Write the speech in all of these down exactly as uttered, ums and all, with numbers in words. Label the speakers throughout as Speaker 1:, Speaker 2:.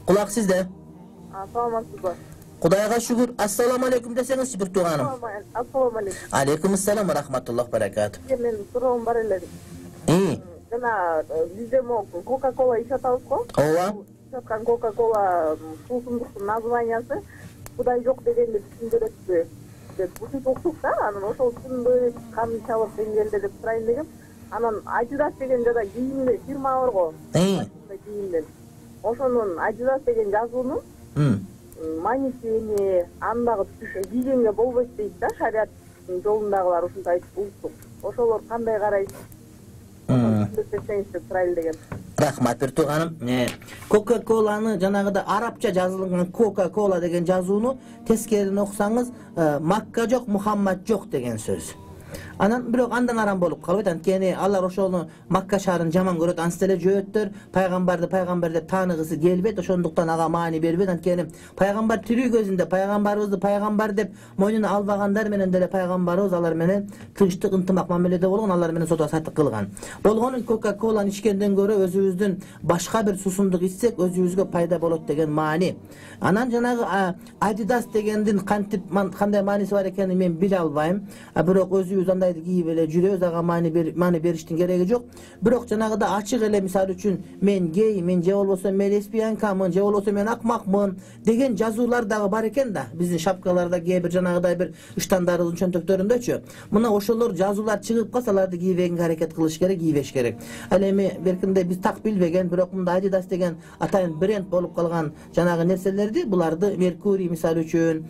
Speaker 1: Kulak sizde.
Speaker 2: Саламатсызбы?
Speaker 1: Кудайга шүгүр. Ассаламу алейкум десеңизчи бир тууганым.
Speaker 2: Ассаламу алейкум.
Speaker 1: Алейкум ассалам ва рахматуллах баракату.
Speaker 2: Мен суроом бар эле.
Speaker 1: И.
Speaker 2: Жана бизде мо Кока-кола ичип атабыз го?
Speaker 1: Ооба.
Speaker 2: Чаткан Кока-кола суусундуктун названиясы Кудай жок дегенди түшүндүрөтпү деп ушинтип уктук да. Анан ошол түшүнбөй канчалык деңгээлде деп сурайын дегем. Анан Adidas деген жада кийимде фирма бар го.
Speaker 1: И.
Speaker 2: Кийимден. Ошонун Adidas деген жазуунун манисини андагы кийгенге болбойт дейт да, шариаттын жолундагылар ушундай айтып уктук. Ошолор кандай карайт? Түшүндүрсөңүз деп сурайлы дегем.
Speaker 1: Рахмат бир тууганым. Кока-коланы жанагыда арабча жазылган Кока-кола деген жазууну тескерин окусаңыз Макка жок, Мухаммад жок деген сөз. Анан бирок андан арам болуп калбайт. Анткени алар ошону Макка шаарын жаман көрөт, ансы эле жөөттөр, пайгамбарды пайгамбар деп тааныгысы келбейт, ошондуктан ага маани бербейт. Анткени пайгамбар тирүү көзүндө пайгамбарыбызды пайгамбар деп мойнуна албагандар менен деле пайгамбарыбыз алар менен тынчтык, ынтымак мамиледе болгон, алар менен соода саттык кылган. Болгону Кока-коланы ичкенден көрө өзүбүздүн башка бир суусундук ичсек өзүбүзгө пайда болот деген маани. Анан жанагы Adidas дегендин кантип кандай мааниси бар экенин мен биле албайм. Бирок өзүбүз андайды кийип эле жүрөбүз, ага маани маани бериштин кереги жок. Бирок жанагыда ачык эле мисалы үчүн мен гей, мен же болбосо мен лесбиянкамын, же болбосо мен акмакмын деген жазуулар дагы бар экен да. Биздин шапкаларда кээ бир жанагыдай бир ыштандарыбыздын чөнтөктөрүндөчү. Мына ошолор жазуулар чыгып калса аларды кийбегенге аракет кылыш керек, кийбеш керек. Ал эми беркинде биз так билбеген, бирок мында Adidas деген атайын бренд болуп калган жанагы нерселерди, буларды Mercury мисалы үчүн,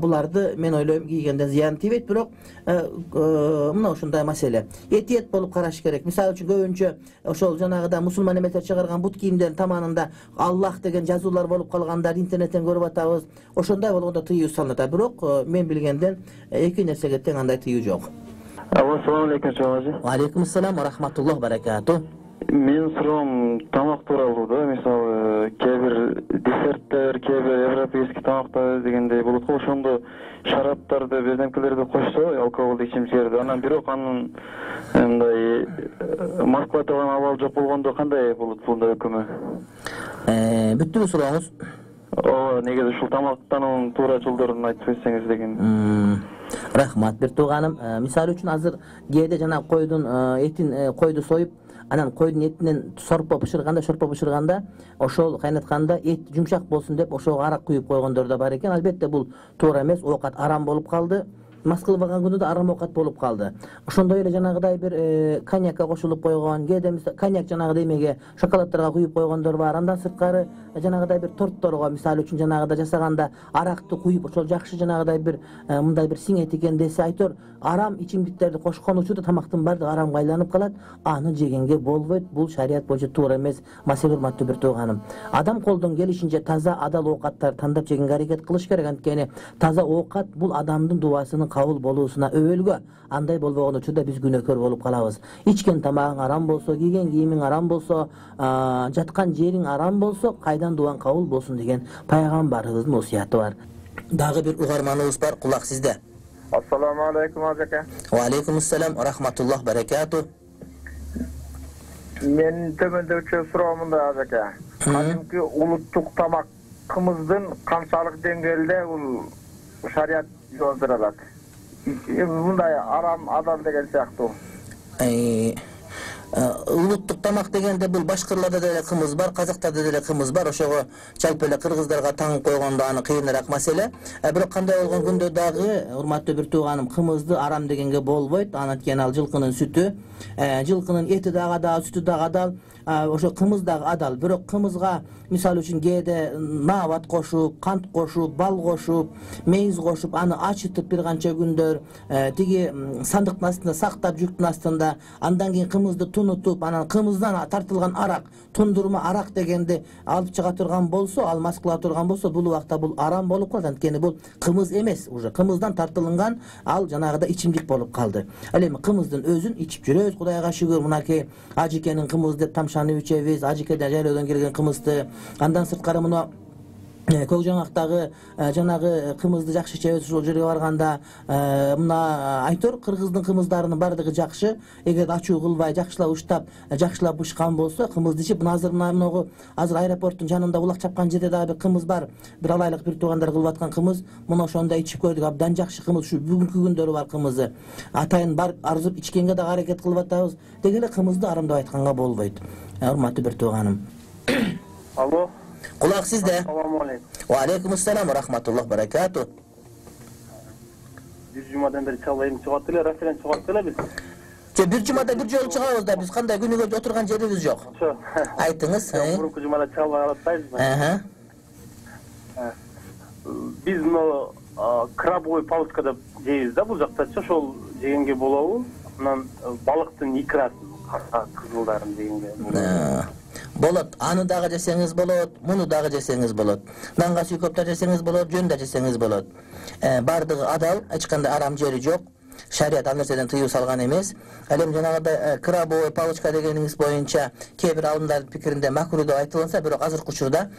Speaker 1: буларды мен ойлойм кийгенде зыян тийбейт, бирок мына ушундай маселе. Этиет болуп караш керек. Мисалы үчүн көбүнчө ошол жанагыда мусулман эместер чыгарган бут кийимдердин таманында Аллах деген жазуулар болуп калгандар интернеттен көрүп атабыз. Ошондой болгондо тыюу салынат. Бирок мен билгенден эки нерсеге тең андай тыюу жок.
Speaker 3: Ассаламу алейкум чоңожу.
Speaker 1: Ва алейкум ассалам ва рахматуллах баракату.
Speaker 3: Мен суроом тамак тууралуу да. Мисалы, кээ бир десерттер, кээ бир европейский тамактар дегендей болот го. Ошондо шараптарды, беземкелерди кошсо, алкоголдук ичимчиктерди, анан бирок анын мындай маркалатылган абалы жок болгондо кандай болот бунда өкүмү?
Speaker 1: Э, бүттүбү сурооңуз?
Speaker 3: Ооба, негизи ушул тамактануунун туура жолдорун айтып берсеңиз деген.
Speaker 1: Рахмат бир тууганым. Мисалы үчүн азыр кээде жана койдун этин, койду союп, анан койдун этинен сорпо бышырганда, шорпо бышырганда, ошол кайнатканда эт жумшак болсун деп ошого арак куюп койгондор да бар экен. Албетте бул туура эмес, оокат арам болуп калды. Мас кылбаган күндө да арам оокат болуп калды. Ошондой эле жанагыдай бир коньякка кошулуп койгон, кээде коньяк жанагы эмеге, шоколаддарга куюп койгондор бар. Андан сырткары жанагыдай бир тортторго, мисалы үчүн жанагыда жасаганда аракты куюп, ошол жакшы жанагыдай бир мындай бир сиңет экен десе айтор, арам ичимдиктерди кошкон учурда тамактын баардыгы арамга айланып калат. Аны жегенге болбойт. Бул шарият боюнча туура эмес. Маселе урматтуу бир тууганым. Адам колдон келишинче таза, адал оокаттарды тандап жегенге аракет кылыш керек. Анткени таза оокат бул адамдын дубасынын кабыл болуусуна өбөлгө. Андай болбогон учурда биз күнөөкөр болуп калабыз. Ичкен тамагың арам болсо, кийген кийимиң арам болсо, жаткан жериң арам болсо, кайдан дуаң кабыл болсун деген пайгамбарыбыздын осуяты бар. Дагы бир угарманыбыз бар, кулак сизде.
Speaker 4: Ассаламу алейкум ажака.
Speaker 1: Ва алейкум ассалам ва рахматуллах баракату.
Speaker 4: Мен төмөндөчү суроомунда ажака. Кадимки улуттук тамакыбыздын канчалык деңгээлде бул шарият жол берет? Мындай арам, адал деген сыяктуу.
Speaker 1: Улуттук тамак дегенде бул башкырларда деле кымыз бар, казактарда деле кымыз бар. Ошого жалпы эле кыргыздарга таңып койгондо аны кыйыныраак маселе. Бирок кандай болгон күндө дагы, урматтуу бир тууганым, кымызды арам дегенге болбойт. Анткени ал жылкынын сүтү, жылкынын эти дагы адал, сүтү дагы адал. Ошо кымыз дагы адал. Бирок кымызга мисалы үчүн кээде набат кошуп, кант кошуп, бал кошуп, мейиз кошуп, аны ачытып бир канча күндөр тиги сандыктын астында сактап, жүктүн астында, андан кийин кымызды тунутуп, анан кымыздан тартылган арак, тундурма арак дегенди алып чыга турган болсо, ал мас кыла турган болсо, бул убакта бул арам болуп калат. Анткени бул кымыз эмес, уже кымыздан тартылган ал жанагыда ичимдик болуп калды. Ал эми кымыздын өзүн ичип жүрөбүз, Кудайга шүгүр. Мынакей ажикенин кымыз деп тамшанып ичебиз, ажикеден жайлоодон келген кымызды. Андан сырткары мына көк жаңактагы жанагы кымызды жакшы чебиз, ошол жерге барганда мына айтор, кыргыздын кымыздарынын бардыгы жакшы. Эгер ачуу кылбай жакшылап уштап, жакшылап бышкан болсо кымызды ичип, мына азыр мына могу азыр аэропорттун жанында улак чапкан жерде дагы бир кымыз бар. Бир алайлык бир туугандар кылып аткан кымыз. Муну ошондо ичип көрдүк, абдан жакшы кымыз. Ушу бүгүнкү күндөрү бар кымызы. Атайын бар арзып ичкенге дагы аракет кылып атабыз. Деги эле кымызды арымдап айтканга болбойт. Урматтуу бир тууганым.
Speaker 5: Алло.
Speaker 1: Кулак сизде.
Speaker 5: Assalomu alaykum.
Speaker 1: Wa alaykum assalam wa rahmatullohi barakatuh.
Speaker 5: Bir jumadan beri çalayım çıkarttılar, referans çıkarttılar biz.
Speaker 1: Же бир жумада бир жолу чыгабыз да, биз кандай күнүгө отурган жерибиз жок. Айтыңыз.
Speaker 5: Мурунку жумада çalmay алатпайбыз.
Speaker 1: Аха.
Speaker 5: Биз мына крабовый палочка деп жейбиз да, бул жактачы, ошол жегенге болобу? Анан балыктын икрасын, кызылдарын жегенге болобу?
Speaker 1: Болот, аны дагы жесеңиз болот, муну дагы жесеңиз болот. Нанга сүйкөп да жесеңиз болот, жөн да жесеңиз болот. Бардыгы адал, эч кандай арам жери жок. Шарият ал нерседен тыюу салган эмес. Ал эми жанагыдай крабовый палочка дегениңиз боюнча кээ бир алымдардын пикиринде макруh деп айтылса, бирок азыркы учурда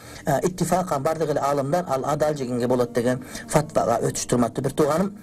Speaker 1: иттифакан бардык эле алымдар ал адал жегенге болот деген фатвага өтүштү, урматтуу бир тууганым.